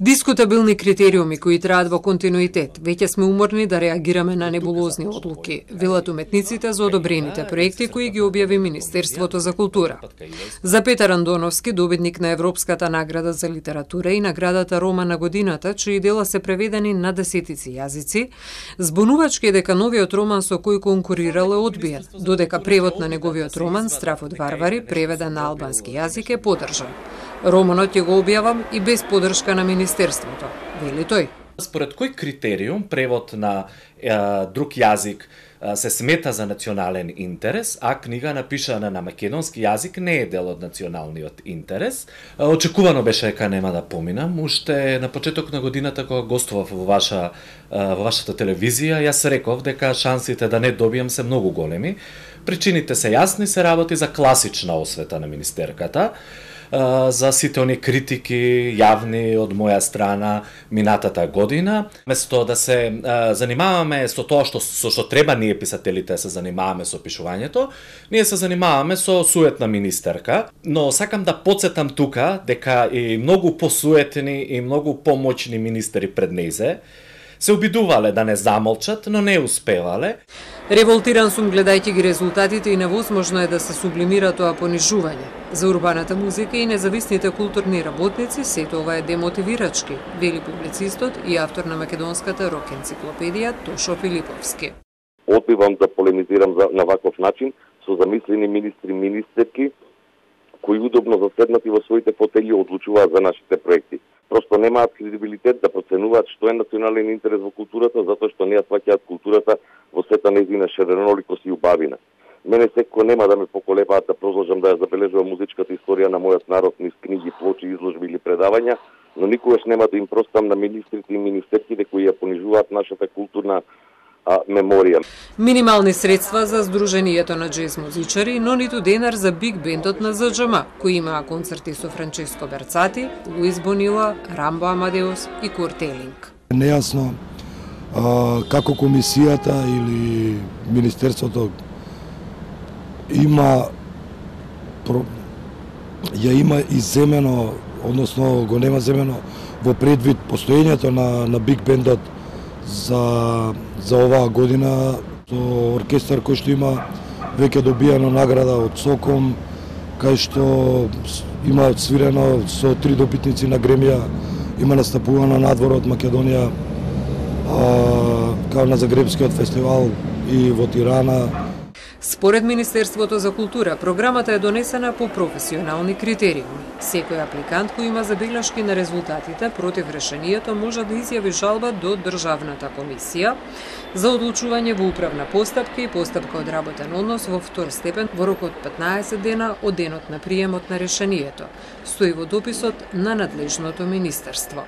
Дискутабилни критериуми кои траат во континуитет. Веќе сме уморни да реагираме на небулозни одлуки, велат уметниците за одобрените проекти кои ги објави Министерството за култура. За Петар Андоновски, добитник на Европската награда за литература и наградата Рома на годината, чии дела се преведени на десетици јазици, збунувачки е дека новиот роман со кој конкурирал е одбиен, додека превод на неговиот роман Страф од варвари, преведен на албански јазик, е поддржан. Романот ќе го објавам и без поддршка на Министерството, вели тој. Според кој критериум превод на друг јазик се смета за национален интерес, а книга напишана на македонски јазик не е дел од националниот интерес? Очекувано беше дека нема да поминам. Уште на почеток на годината кога гостував во вашата телевизија, јас реков дека шансите да не добијам се многу големи. Причините се јасни, се работи за класична освета на министерката, за сите они критики јавни од моја страна минатата година. Место да се занимаваме со тоа што треба ние писателите се занимаваме со пишувањето, ние се занимаваме со суетна министерка, но сакам да потсетам тука дека и многу посуетни и многу помоćни министери пред нејзе се обидувале да не замолчат, но не успевале. Револтиран сум гледајќи ги резултатите и невозможно е да се сублимира тоа понижување. За урбаната музика и независните културни работници сето ова е демотивирачки, вели публицистот и автор на македонската рок енциклопедија Тошо Филиповски. Одбивам да полемизирам на ваков начин со замислени министри и министерки кои удобно заседнати во своите фотели одлучуваат за нашите проекти. Просто немаат кредибилитет да проценуваат што е национален интерес во културата, затоа што не ја сваќаат културата во сета нејзина ширеноликост и убавина. Мене секој нема да ме поколебаат да продолжам да ја забележувам музичката историја на мојот народ низ книги, плочи, изложби или предавања, но никогаш нема да им простам на министрите и министерките кои ја понижуваат нашата културна меморија. Минимални средства за Сдруженијето на џез музичари, но ниту денар за биг бендот на ЗДЖМ, кои имаа концерти со Франческо Берцати, Луис Бонила, Рамбо Амадеус и Курт Елинг. Нејасно како комисијата или Министерството има изземено, односно го нема земено во предвид постоењето на биг бендот за оваа година, со оркестар кој што има веќе добијано награда од СОКОМ, кај што има свирено со 3 добитници на Гремија, има настапувано надвор од Македонија, као на Загребскиот фестивал и во Тирана. Според Министерството за култура, програмата е донесена по професионални критериуми. Секој апликант кој има забелешки на резултатите против решението може да изјави жалба до Државната комисија за одлучување во управна постапка и постапка од работен однос во втор степен во рок од 15 дена од денот на приемот на решението, стои во дописот на надлежното министерство.